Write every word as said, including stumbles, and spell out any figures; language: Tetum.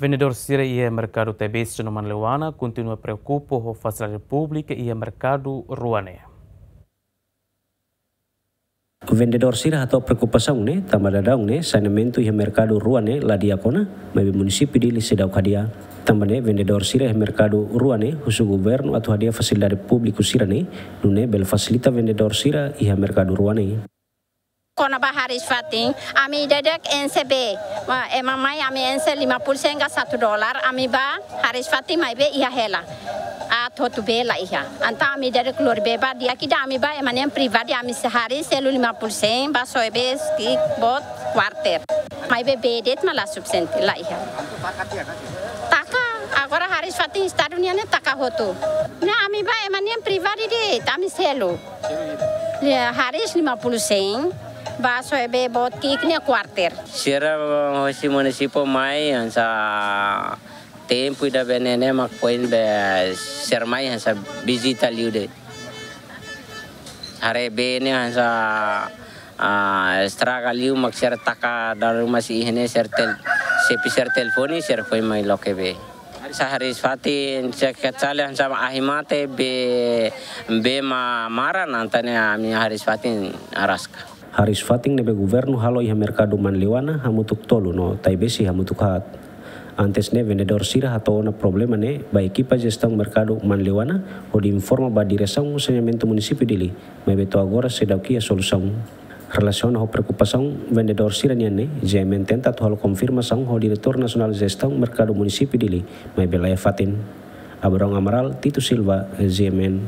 Vendedór sira iha merkadu Taibesi no Manleuana kontinua preokupa ho fasilidade públika iha merkadu rua ne'e. Vendedór sira hato'o preokupasaun ne'e tanba daudaun ne'e saneamentu iha merkadu rua ne'e la di'ak ona, maibé munisípiu Dili seidauk hadi'a. Tanba ne'e vendedór sira iha merkadu rua ne'e husu governu atu hadi'a fasilidade públiku sira ne'e, nune'e bele fasilita vendedór sira iha merkadu rua ne'e. Kona-ba hariis-fatin, ami ida-idak enxe bee. Ma, ema mai ami enxe lima puluh sen ka satu dolar, ami bá hariis-fatin maibé iha hela. Aat hotu bee la iha. Entaun ami ida-idak lori bee bá di'ak ida, ami bá ema nian privadu, ami sei hariis selu lima puluh sen, bá soe bee ki'ik boot kuarter. Maibé bee de'it mak la sufisiente, la iha. Taka, agora hariis-fatin Estadu nian ne'e taka hotu. Ne'e ami bá ema nian privadu de'it, ami selu. Lia, hariis lima puluh sen, bá soe bee boot ki'ik ne'e kuarter. Sira hosi munisípiu mai hanesan tempu ida-ne'e ne'e mak foin be sira mai hanesan vizita liu de'it. Haree bee ne'e hanesan, ah, estraga liu mak sira taka dala ruma sei iha ne'e sira tel-, xefe sira telefone sira foin mai loke bee. Hanesan hariis-fatin sira kecale hanesan ahi mate bee, bee mak maran entaun ne'e ami hariis-fatin araska. Hariis-fatin ne'ebé governu halo iha merkadu Manleuana hamutuk tolu no Taibesi hamutuk haat. Antes ne'e vendedór sira hato'o ona problema ne'e ba ekipa jestaun merkadu Manleuana hodi informa ba diresaun saneamentu munisípiu Dili, maibé to'o agora seidauk iha solusaun. Relasiona ho preokupasaun vendedór sira nian ne'e, G M N tenta atu halo konfirmasaun ho Diretór Nasionál Jestaun Merkadu Munisípiu Dili, maibé la iha fatin. Abrão Amaral, Tito Silva, G M N.